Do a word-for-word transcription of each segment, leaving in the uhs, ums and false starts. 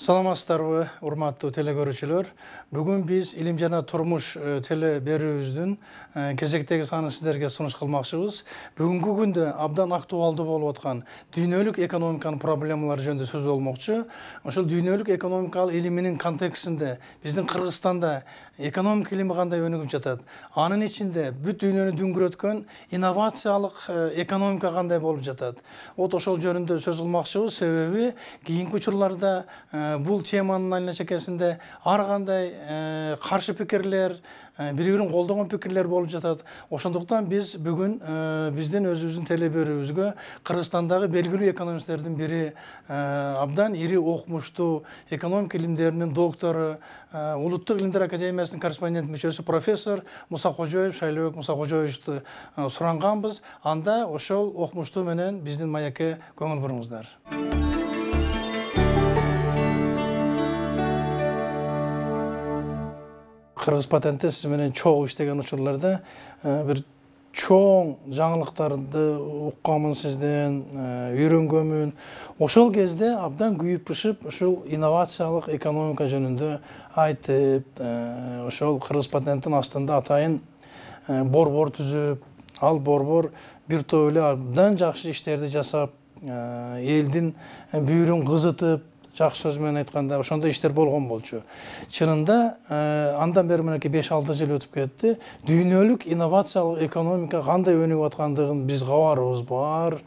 Саламатсыздарбы, урматтуу телекөрүүчүлөр. Бүгүн биз Илим жана турмуш теле берүүбүздүн кезектеги санын сиздерге сунуш кылмакчыбыз. Бүгүнкү күндө абдан актуалдуу болуп аткан дүйнөлүк экономиканын проблемалары жөнүндө сөз болмокчу. Ошол дүйнөлүк экономикалык илиминин контекстинде биздин Кыргызстанда экономика илими кандай өнүгүп жатат? Анын ичинде бүт дүйнөнү дүңгүрөткөн инновациялык экономика кандай болуп жатат? Вот ошол жөнүндө сөз кылмакчыбыз, себеби кийинки учурларда бул теманын айна чекесинде ар кандай каршы пикирлер, бири-бирин колдогон пикирлер болуп жатат. Ошондуктан биз бүгүн биздин өзүбүздүн теле берүүбүзгө Кыргызстандагы белгилүү экономисттердин бири, абдан ири окумуштуу экономика илимдеринин доктору, Улуттук илимдер академиясынын корреспондент мүчөсү профессор Мусакожоев, Шайлообек Мусакожоевичти суранганбыз. Анда ошол окумуштуу менен биздин маекке көңүл буруңуздар. Кыргыз патентте сиз менен чогуу иштеген учурларда бир чоң жаңылыктарды укканмын сизден, үйрөнгөнмүн. Ошол кезде абдан күйүп пышып ушул инновациялык экономика жөнүндө айтып, ошол Кыргыз патенттин астында атайын борбор түзүп, ал борбор бир топ эле абдан жакшы иштерди жасап, элдин бүйүрүн кызытып, жакшы сөз менен айтканда ошондой иштер болгон болчу. Чынында андан бери мынакей беш алты жыл өтүп кетти. Дүйнөлүк инновациялык экономика кандай өнүгүп аткандыгын биз кабарыбыз бар.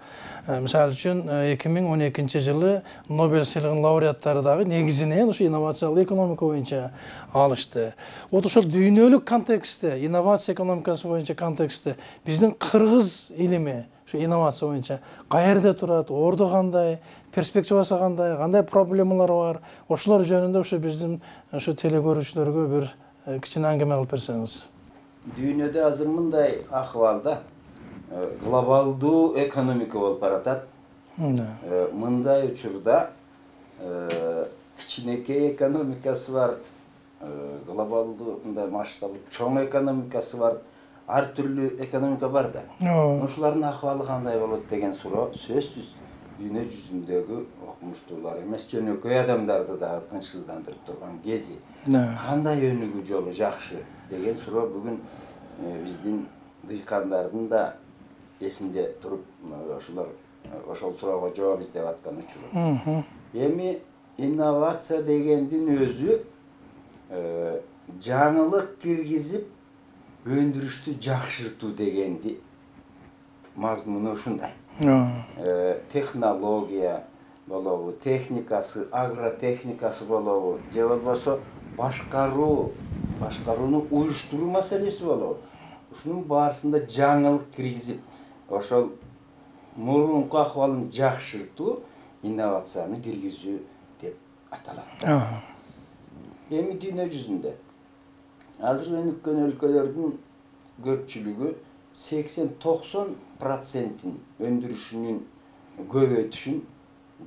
Мисалы үчүн эки миң он экинчи жылы Нобель сыйлыгынын лауреаттары дагы негизинен ушу инновациялык экономика боюнча алышты. Вот ошол дүйнөлүк контекстте, инновация экономикасы боюнча контекстте биздин кыргыз илими ушу инновация боюнча каерде турат, орду кандай, перспективасы кандай, кандай проблемалар бар? Ошолор жөнүндө ушу биздин ушу теле көрүүчүлөргө бир кичине аңгеме кылып берсеңиз. Дүйнөдө азыр мындай акыбалда глобалдуу экономика болуп баратат. Мындай учурда кичинекей экономикасы бар, глобалдуу мындай масштабы чоң экономикасы бар, ар түрлүү экономика бар да. Ошолордун акыбалы кандай болот деген суроо сөзсүз дүйнө жүзүндөгү окумуштуулар эмес, жөнөкөй адамдарды дагы тынчсыздандырып турган кези. Кандай өнүгүү жолу жакшы деген суроо бүгүн биздин дыйкандардын да эсинде туруп, ошолор ошол суроого жооп издеп аткан учуру. Эми инновация дегендин өзү жаңылык киргизип өндүрүштү жакшыртуу дегенди мазмуну ушундай. Технология болобу, техникасы, агротехникасы болобу, же болбосо башкаруу, башкарууну уюштуруу маселеси болобу. Ушунун баарысында жаңылык киргизип, ошол мурунку акыбалын жакшыртуу инновацияны киргизүү деп аталат. Эми дүйнө жүзүндө азыр өнүккөн өлкөлөрдүн көпчүлүгү сексен токсон процентин өндүрүшүнүн көбөйтүшүн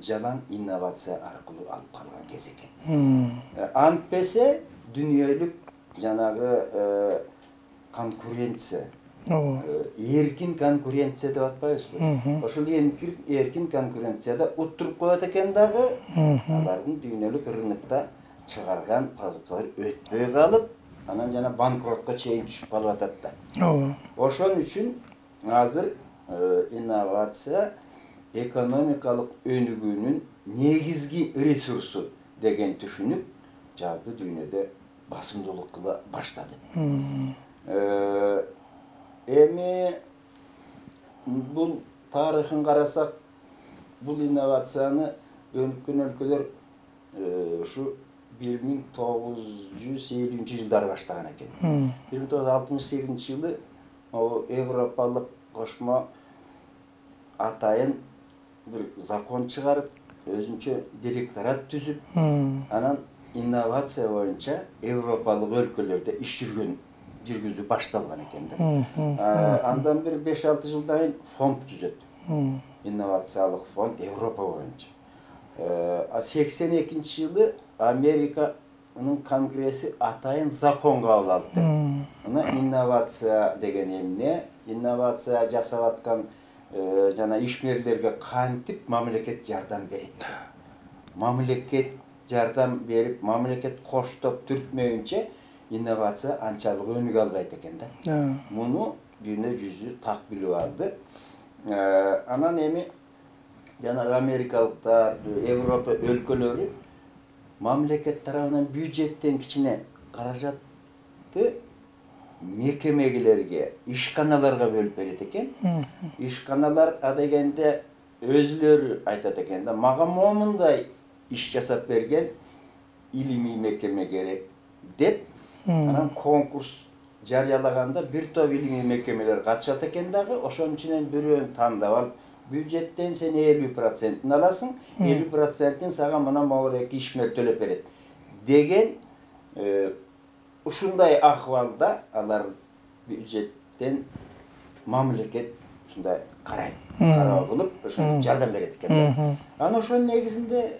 жалаң инновация аркылуу алып калган кез экен. Антпесе дүйнөлүк жанагы конкуренция, эркин конкуренция деп атпайбызбы? Ошол эркин конкуренцияда уттуруп коет экен дагы, алардын дүйнөлүк рынокто чыгарган продукциялар өтпөй калып, анан жана банкротко чейин түшүп калып атат да. Ошон үчүн азыр инновация экономикалык өнүгүүнүн негизги ресурсу деген түшүнүк жалпы дүйнөдө басымдуулук кыла баштады. Эми бул тарыхын карасак, бул инновацияны өнүккөн өлкөлөр ушу бир миң тогуз жүз элүүнчү жылдары баштаган экен. бир миң тогуз жүз алтымыш сегизинчи жылы Европалык кошмо атайын бир закон чыгарып, өзүнчө директорат түзүп, анан инновация боюнча Европалык өлкөлөрдө иш жүргөн жүргүзүү башталган экен да. Андан бир беш алты жылдан кийин фонд түзөт. Инновациялык фонд Европа боюнча. сексен экинчи жылы Американын конгресси атайын закон кабыл алды. Мына инновация деген эмне? Инновация жасап аткан жана ишмерлерге кантип мамлекет жардам берет? Мамлекет жардам берип, мамлекет коштоп түртмөйүнчө инновация анчалык өнүгө албайт экен да. Муну дүйнө жүзү так билип алды. Анан эми жанагы америкалыктар, Европа өлкөлөрү мамлекет тарабынан бюджеттен кичине каражатты мекемелерге, ишканаларга бөлүп берет экен. Ишканалар адегенде өзүлөрү айтат экен да, мага момундай иш жасап берген илимий мекеме керек деп, анан конкурс жарыялаганда бир топ илимий мекемелер катышат экен дагы, ошонун ичинен бирөөнү тандап алып, бюджеттен сен элүү процентин аласың, элүү процентин сага мына могуреки ишмер төлөп берет деген ушундай акыбалда алар бюджеттен мамлекет ушундай карайт, кароо кылып, ошо жардам берет экен. Анан ошонун негизинде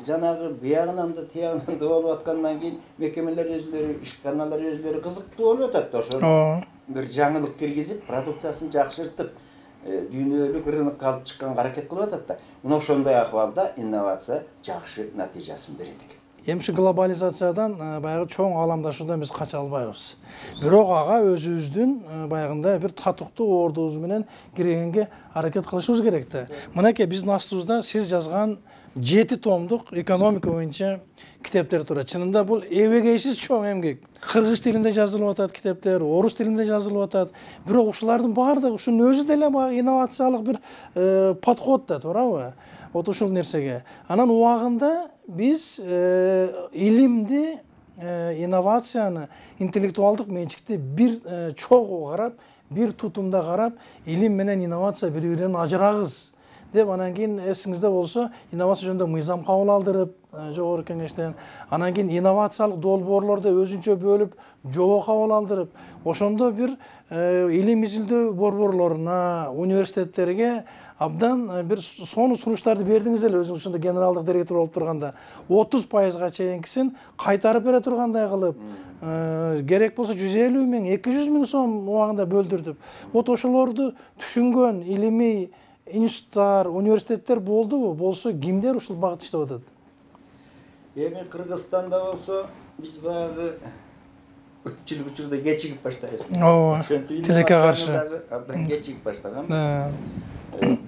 жанагы биягынан да тиягынан да болуп аткандан кийин мекемелер өзүлөрү, ишканалар өзүлөрү кызыктуу болуп атат. Ошо бир жаңылык киргизип, продукциясын жакшыртып, дүйнөлүк рынокко алып чыкканга аракет кылып атат да. Мына ошондой акыбалда инновация жакшы натыйжасын берет экен. Эми ушу глобализациядан баягы чоң ааламдашуудан биз кача албайбыз. Бирок ага өзүбүздүн баягындай бир татыктуу ордубуз менен киргенге аракет кылышыбыз керек да. Мынакей биздин астыбызда сиз жазган жети томдук экономика боюнча китептер турат. Чынында бул эбегейсиз чоң эмгек. Кыргыз тилинде жазылып атат китептер, орус тилинде жазылып атат. Бирок ушулардын баардыгы ушунун өзү деле баягы инновациялык бир подход да, туурабы? Вот ушул нерсеге. Анан убагында биз илимди, инновацияны, интеллектуалдык менчикти бир чогуу карап, бир тутумда карап, илим менен инновация бири-биринен ажырагыз деп, анан кийин эсиңизде болсо, инновация жөнүндө мыйзам кабыл алдырып, жогорку кеңештен, анан кийин инновациялык долбоорлорду өзүнчө бөлүп, жобо кабыл алдырып, ошондо бир илим изилдөө борборлоруна, университеттерге абдан бир сонун сунуштарды бердиңиз эле, өзүңүз ошондо генералдык директор болуп турганда, отуз пайызга чейинкисин кайтарып бере тургандай кылып, керек болсо жүз элүү миң, эки жүз миң сом убагында бөлдүрдүп, вот ошолорду түшүнгөн илимий институттар, университеттер болдубу? Болсо кимдер ушул багытта иштеп атат? Эми Кыргызстанда болсо биз баягы көпчүлүк учурда кечигип баштайбыз. Ооба. Тилекке каршы абдан кечигип баштаганбыз.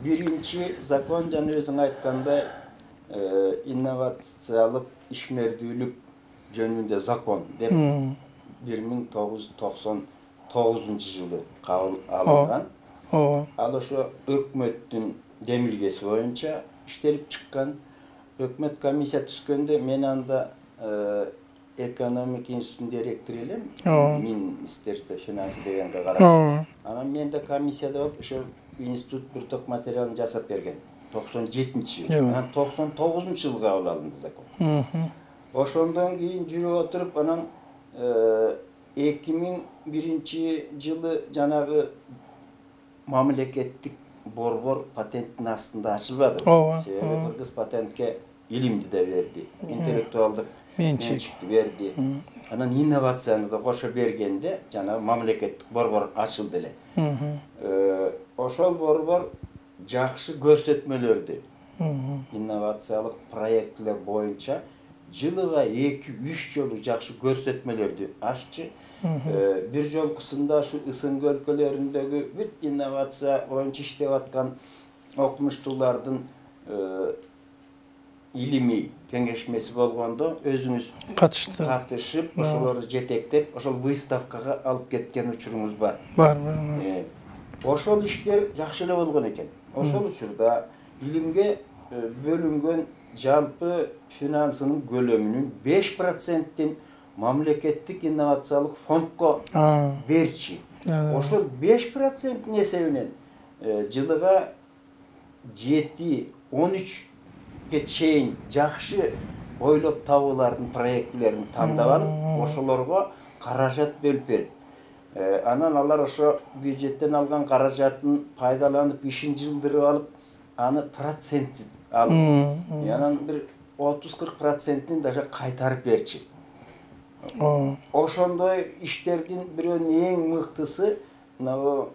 Биринчи закон жана өзүң айткандай инновациялык ишмердүүлүк жөнүндө закон деп бир миң тогуз жүз токсон тогузунчу жылы кабыл алынган. Ал ошо өкмөттүн демилгеси боюнча иштелип чыккан. Өкмөт комиссия түзгөндө мен анда экономик институттун директору элем, Министерство финансы дегенге карап. Анан мен да комиссияда болуп, ошо институт бир топ материалын жасап берген. токсон жетинчи жылы. Анан токсон тогузунчу жылы кабыл алынды закон. Ошондон кийин жүрүп отуруп, анан эки миң биринчи жылы жанагы мамлекеттик борбор патенттин астында ачылбады. Себеби Кыргыз патентке илимди да берди, интеллектуалдык менчикти берди. Анан инновацияны да кошо бергенде жанагы мамлекеттик борбор ачылды эле. Ошол борбор жакшы көрсөтмөлөрдү, инновациялык проекттер боюнча жылыга эки үч жолу жакшы көрсөтмөлөрдү аччы. Бир жолкусунда ушу ысынг өлкөлөрүндөгү бүт инновация боюнча иштеп аткан окумуштуулардын илимий кеңешмеси болгондо өзүңүз катышты, катышып, ошолорду жетектеп, ошол выставкага алып кеткен учуруңуз бар. Бар, бар. Ошол иштер жакшы эле болгон экен. Ошол учурда илимге бөлүнгөн жалпы финансынын көлөмүнүн беш процентин мамлекеттик инновациялык фондко берчи. Ошол беш проценттин эсебинен жылыга жети он үчкө чейин жакшы ойлоп табуулардын проектилерин тандап алып, ошолорго каражат бөлүп берип, анан алар ошо бюджеттен алган каражатын пайдаланып, ишин жылдырып алып, аны процентсиз алып, анан бир отуз кырк процентин даже кайтарып берчи. Ошондой иштердин бирөөнүн эң мыктысы мына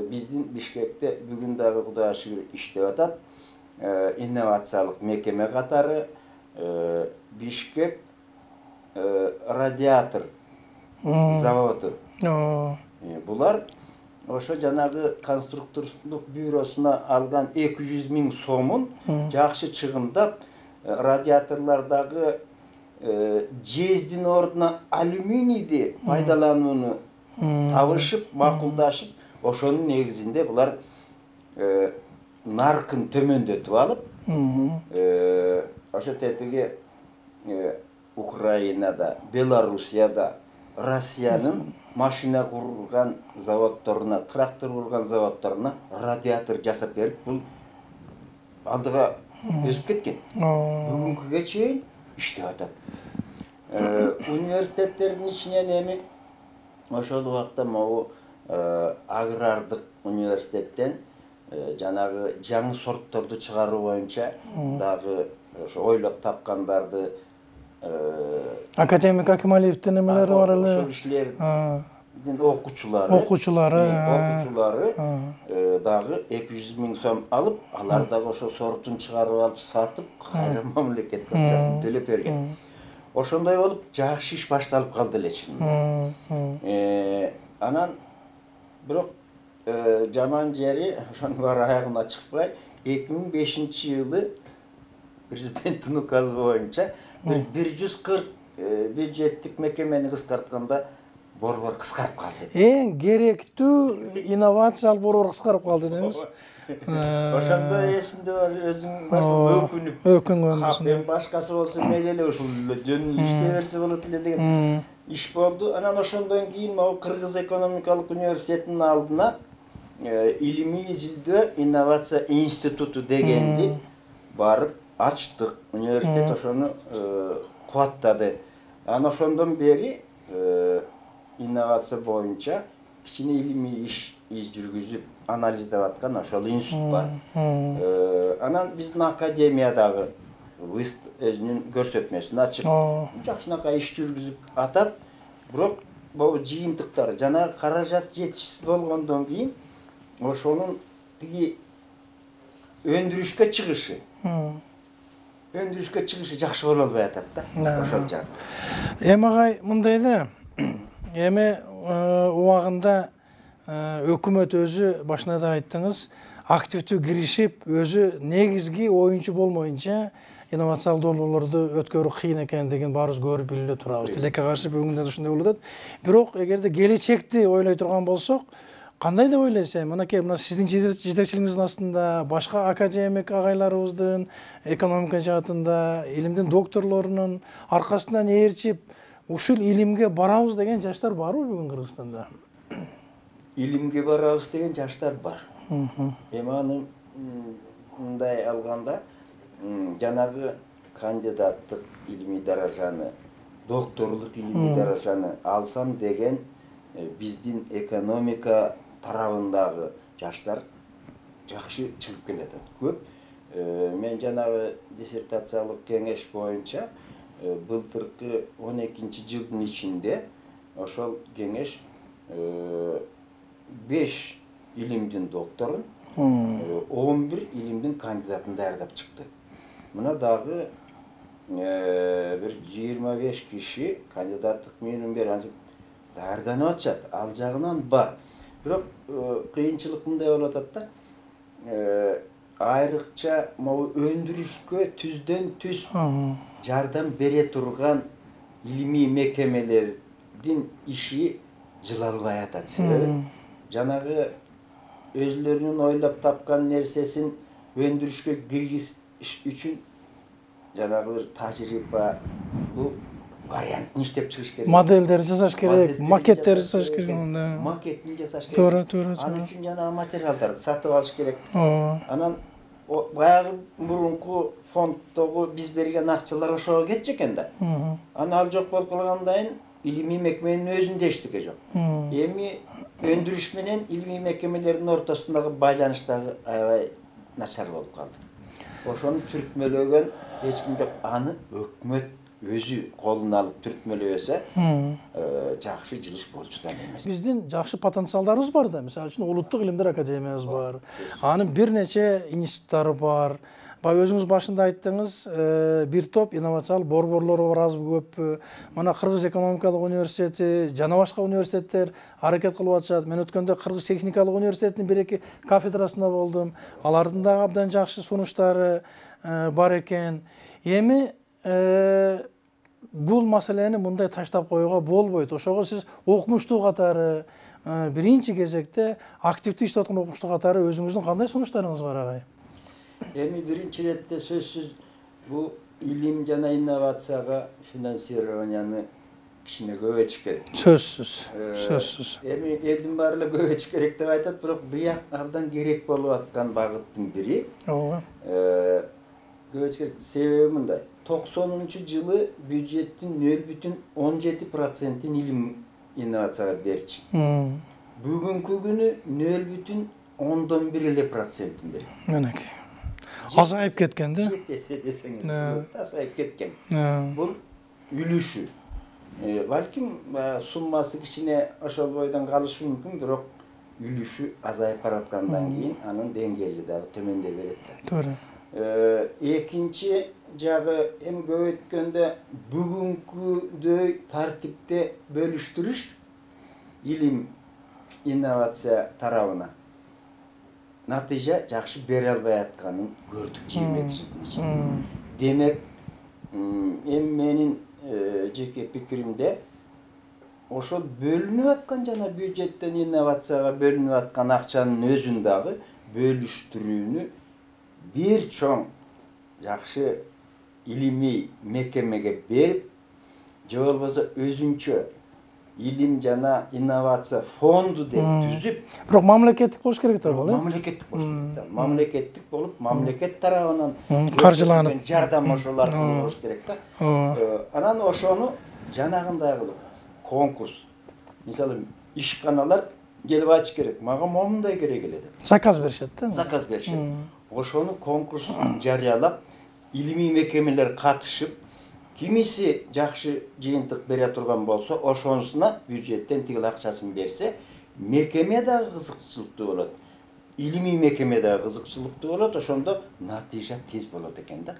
биздин Бишкекте бүгүн дагы Кудайга шүгүр иштеп атат. Инновациялык мекеме катары Бишкек радиатор заводу. Булар ошо жанагы конструкторлук бюросуна алган эки жүз миң сомун жакшы чыгымдап, радиаторлордагы жездин ордуна алюминийди пайдаланууну табышып, макулдашып, ошонун негизинде булар наркын төмөндөтүп алып, ошо тетиги Украинада, Белоруссияда, Россиянын машина курган заводдоруна, трактор курган заводдоруна радиатор жасап берип, бул алдыга өсүп кеткен. Бүгүнкүгө чейин иштеп атат. Университеттердин ичинен эми ошол убакта могу агрардык университеттен жанагы жаңы сортторду чыгаруу боюнча дагы ошо ойлоп тапкандарды академик Акималиевдин эмелери бар эле. Ошол кишилердин окуучулары, окуучулары, окуучулары дагы эки жүз миң сом алып, алар дагы ошо сортун чыгарып алып сатып, кайра мамлекет акчасын төлөп берген. Ошондой болуп, жакшы иш башталып калды эле чынында. Анан бирок жаман жери ошонун баары аягына чыкпай, эки миң бешинчи жылы президенттин указы боюнча бир жүз кырк бюджеттик мекемени кыскартканда борбор кыскарып калды. Эң керектүү инновациялык борбор кыскарып калды дейбиз. Ошондо эсимде бар, өзүң өкүнүп, өкүнгөн башкасы болсо мейли эле ушул жөнүндө иштей берсе болот эле деген иш болду. Анан ошондон кийин могу Кыргыз экономикалык университетинин алдына илимий изилдөө инновация институту дегенди барып ачтык. Университет ошону кубаттады. Анан ошондон бери инновация боюнча кичине илимий иш жүргүзүп анализдеп аткан ошол институт бар. Анан биздин академиядагы өзүнүн көрсөтмөсүн ачып, жакшынакай иш жүргүзүп атат. Бирок бул жыйынтыктар жана каражат жетишсиз болгондон кийин ошонун тиги өндүрүшкө чыгышы, өндүрүшкө чыгышы жакшы боло албай атат да. Ошол жак. Эми агай мындай эле, эми убагында өкмөт өзү башында да айттыңыз, активдүү киришип, өзү негизги оюнчу болмоюнча инновациялык долбоорлорду өткөрүү кыйын экендигин баарыбыз көрүп билип турабыз. Тилекке каршы бүгүндө ушундай болуп атат. Бирок эгерде келечекти ойлой турган болсок, кандай деп ойлойсуз? Мынакей мына сиздин жетекчилигиңиздин астында башка академик агайларыбыздын экономика жаатында, илимдин докторлорунун аркасынан ээрчип, ушул илимге барабыз деген жаштар барбы бүгүн Кыргызстанда? Илимге барабыз деген жаштар бар. Эми аны мындай алганда, жанагы кандидаттык илимий даражаны, докторлук илимий даражаны алсам деген биздин экономика тарабындагы жаштар жакшы чыгып келатат. Көп. Мен жанагы диссертациялык кеңеш боюнча былтыркы он экинчи жылдын ичинде ошол кеңеш беш илимдин докторун, он бир илимдин кандидатын даярдап чыкты. Мына дагы бир жыйырма беш киши кандидаттык менен бери даярданып атышат. Ал жагынан бар. Бирок кыйынчылык мындай болуп атат да. Айрыкча могу өндүрүшкө түздөн түз жардам бере турган илимий мекемелердин иши жылалбай атат. Себеби жанагы өзлөрүнүн ойлоп тапкан нерсесин өндүрүшкө киргизиш үчүн жанагы бир тажрыйбалуу вариантын иштеп чыгыш керек. Модельдер жасаш керек, макеттер жасаш керек. Макеттин жасаш керек. Туура, туура. Ал үчүн жанагы материалдарды сатып алыш керек. Анан баягы мурунку фонддогу биз берген акчалар ошого кетчү экен да. Анан ал жок болуп калгандан кийин илимий мекеменин өзүндө эчтеке жок. Эми өндүрүш менен илимий мекемелердин ортосундагы байланыш дагы аябай начар болуп калды. Ошону түртмөлөгөн эч ким жок. Аны өкмөт өзү колуна алып түртмөлөбөсө, жакшы жылыш болчу да эмес. Биздин жакшы потенциалдарыбыз бар да. Мисалы үчүн Улуттук илимдер академиябыз бар. Анын бир нече институттары бар. баягы өзүңүз башында айттыңыз, бир топ инновациялык борборлор бар, азбы көппү. Мына Кыргыз экономикалык университети жана башка университеттер аракет кылып атышат. Мен өткөндө Кыргыз техникалык университетинин бир эки кафедрасында болдум. Алардын дагы абдан жакшы сунуштары бар экен. Эми бул маселени мындай таштап коюуга болбойт. Ошого сиз окумуштуу катары биринчи кезекте активдүү иштеп аткан окумуштуу катары өзүңүздүн кандай сунуштарыңыз бар, агай? Эми биринчи иретте сөзсүз бул илим жана инновацияга финансированияны кичине көбөйтүш керек. Сөзсүз, сөзсүз. Эми элдин баары эле көбөйтүш керек деп айтат, бирок бияк абдан керек болуп аткан багыттын бири. Ооба. Көбөйтүш керек. Себеби мындай. токсонунчу жылы бюджеттин нөл бүтүн он жети процентин илим инновацияга берчү. Бүгүнкү күнү нөл бүтүн ондон бир эле процентин берет. Менеки. Азайып кеткен да? Жетесеңиз, азайып кеткен. Бул үлүшү. Балким суммасы кичине ошол бойдон калышы мүмкүн, бирок үлүшү азайып бараткандан кийин анын деңгээли дагы төмөндөй берет да. Туура. Экинчи жагы эми көбөйткөндө бүгүнкүдөй тартипте бөлүштүрүш илим инновация тарабына натыйжа жакшы бере албай атканын көрдүк жыйырма эки жылдын ичинде. Демек, эми менин жеке пикиримде ошол бөлүнүп аткан жана бюджеттен инновацияга бөлүнүп аткан акчанын өзүн дагы бөлүштүрүүнү бир чоң жакшы илимий мекемеге берип, же болбосо өзүнчө илим жана инновация фонду деп түзүп, бирок мамлекеттик болуш керек да бул, э? Мамлекеттик болуш керек. Мамлекеттик болуп, мамлекет тарабынан каржыланып, жардам ошолор болуш керек да. Анан ошону жанагындай кылып конкурс. Мисалы, ишканалар келип айтыш керек. Мага момундай керек эле деп. Заказ беришет да. Заказ беришет. Ошону конкурс жарыялап, илимий мекемелер катышып, кимиси жакшы жыйынтык бере турган болсо, ошонусуна бюджеттен тигил акчасын берсе, мекеме дагы кызыкчылыктуу болот. Илимий мекеме дагы кызыкчылыктуу болот, ошондо натыйжа тез болот экен да.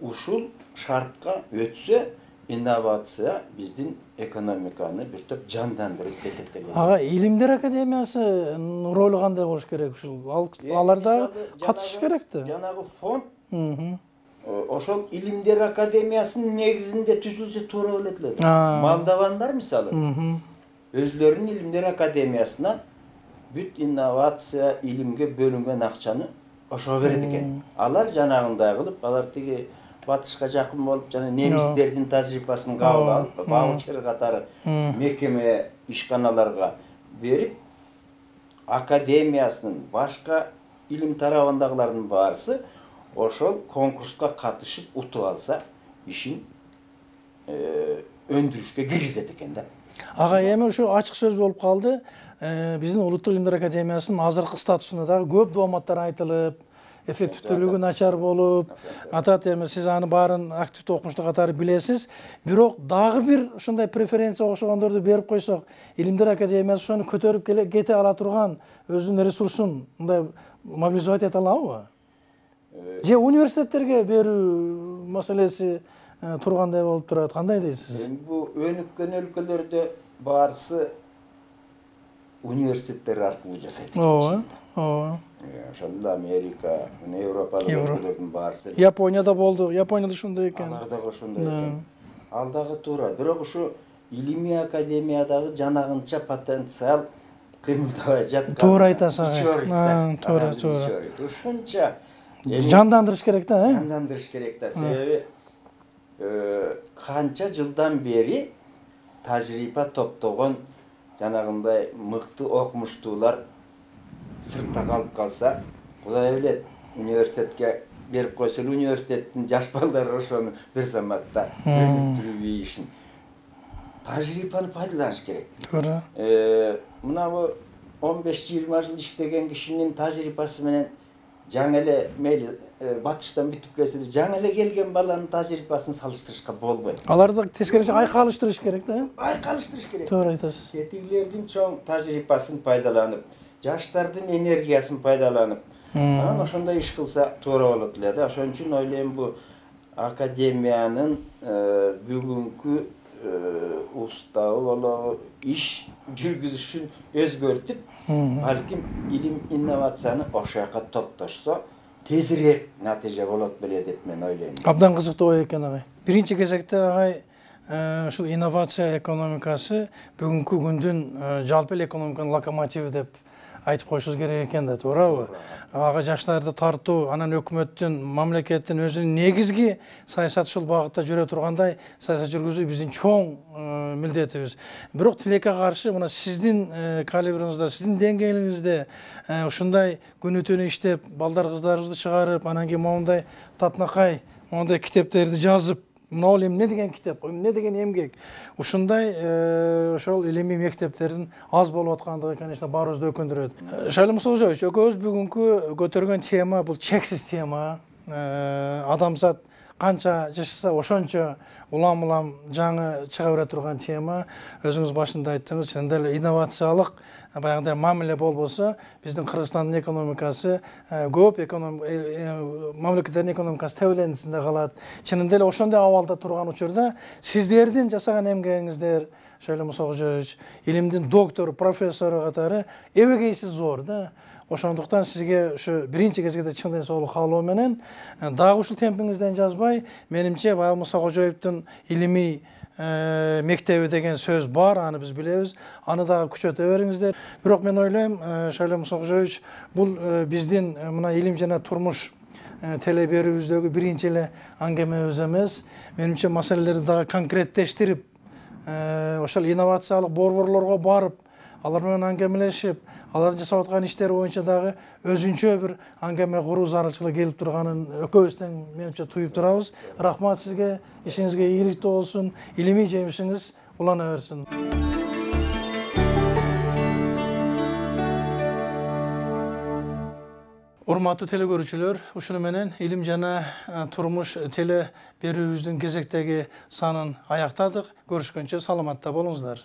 Ушул шартка өтсө, инновация биздин экономиканы бир топ жандандырып кетет деп. Ага, Илимдер академиясынын ролу кандай болуш керек ушул? Аларда катышыш керек да. Жанагы фонд ошол Илимдер академиясынын негизинде түзүлсө туура болот эле. Молдовандар мисалы өзлөрүнүн Илимдер академиясына бүт инновация, илимге бөлүнгөн акчаны ошого берет экен. Алар жанагындай кылып, алар тиги батышка жакын болуп, жана немистердин тажрыйбасын кабыл алып, ваучер катары мекеме ишканаларга берип, академиясынын башка илим тарабындагылардын баарысы ошол конкурска катышып утуп алса, ишин өндүрүшкө киргизет экен да. Ага, эми ушу ачык сөз болуп калды. Биздин Улуттук Илимдер академиясынын азыркы статусуна дагы көп дооматтар айтылып, эффективдүүлүгү начар болуп атат. Эми сиз аны баарын активдүү окумуштуу катары билесиз. Бирок дагы бир ушундай преференция окшогондорду берип койсок, Илимдер академиясы ошону көтөрүп кете ала турган өзүнүн ресурсун мындай мобилизовать эте алабы? Же университеттерге берүү маселеси тургандай болуп турат. Кандай дейсиз? Бул өнүккөн өлкөлөрдө баарысы университеттер аркылуу жасайт экен. Ооба, ооба. Ошондо Америка, Европалык өлкөлөрдүн баарысы. Японияда болду. Японияда ошондой экен. Алар дагы ошондой экен. Ал дагы туура. Бирок ушу илимий академиядагы жанагынча потенциал кыймылдабай жаткан. Туура айтасыз. Туура, туура. Ушунча жандандырыш керек да, э? Жандандырыш керек да. Себеби канча жылдан бери тажрыйба топтогон жанагындай мыкты окумуштуулар сыртта калып калса, Кудай билет, университетке берип койсо, университеттин жаш балдары ошону бир заматта өнүктүрүү ишин. Тажрыйбаны пайдаланыш керек. Туура. Мына бу он беш жыйырма жыл иштеген кишинин тажрыйбасы менен жаңы эле мейли батыштан бүтүп келсе, жаңы эле келген баланын тажрыйбасын салыштырышка болбойт. Аларды тескерисинче айкалыштырыш керек да, э? Айкалыштырыш керек. Туура айтасыз. Этигилердин чоң тажрыйбасын пайдаланып, жаштардын энергиясын пайдаланып, Анан ошондой иш кылса туура болот эле да. Ошон үчүн ойлойм бу академиянын бүгүнкү уставы болобу, иш жүргүзүшүн өзгөртүп, балким илим инновацияны ошол жака топтошсо, тезирээк натыйжа болот беле деп мен ойлойм. Абдан кызыктуу ой экен агай. Биринчи кезекте агай ушул инновация экономикасы бүгүнкү күндүн жалпы эле экономиканын локомотиви деп айтып коюшубуз керек экен да, туурабы? Ага жаштарды тартуу, анан өкмөттүн, мамлекеттин өзүнүн негизги саясаты ушул багытта жүрө тургандай саясат жүргүзүү биздин чоң милдетибиз. Бирок тилекке каршы мына сиздин калибриңизде, сиздин деңгээлиңизде ушундай күнү түнү иштеп, балдар кыздарыбызды чыгарып, анан кийин моундай татынакай, моундай китептерди жазып, мына ал эмне деген китеп, эмне деген эмгек. Ушундай ошол илимий мектептердин аз болуп аткандыгы, конечно, баарыбызды өкүндүрөт. Шайлы Мусалжович, экөөбүз бүгүнкү көтөргөн тема бул чексиз тема. Адамзат канча жашаса ошончо улам-улам жаңы чыга бере турган тема. Өзүңүз башында айттыңыз, чынында эле инновациялык баягындай мамиле болбосо, биздин Кыргызстандын экономикасы көп мамлекеттердин экономикасы тебелендисинде калат. Чынында эле ошондой абалда турган учурда сиздердин жасаган эмгегиңиздер, Шайлы Мусалжович, илимдин доктору, профессору катары эбегейсиз зор да. Ошондуктан сизге ушу биринчи кезекте чын ден соолук каалоо менен дагы ушул темпиңизден жазбай, менимче баягы Муса Кожоевдун илимий мектеби деген сөз бар, аны биз билебиз. Аны дагы күчөтө бериңиздер. Бирок мен ойлойм, Шайлы Муса Кожоевич, бул биздин мына илим жана турмуш теле берүүбүздөгү биринчи эле аңгемебиз эмес. Менимче маселелерди дагы конкреттештирип, ошол инновациялык борборлорго барып, алар менен аңгемелешип, алардын жасап аткан иштери боюнча дагы өзүнчө бир аңгеме куруу зарылчылыгы келип турганын экөөбүздөн менимче туюп турабыз. Рахмат сизге, ишиңизге ийгиликтүү болсун, илимий жемишиңиз улана берсин. Урматтуу теле көрүүчүлөр, ушуну менен илим жана турмуш теле берүүбүздүн кезектеги санын аяктадык. Көрүшкөнчө саламатта болуңуздар.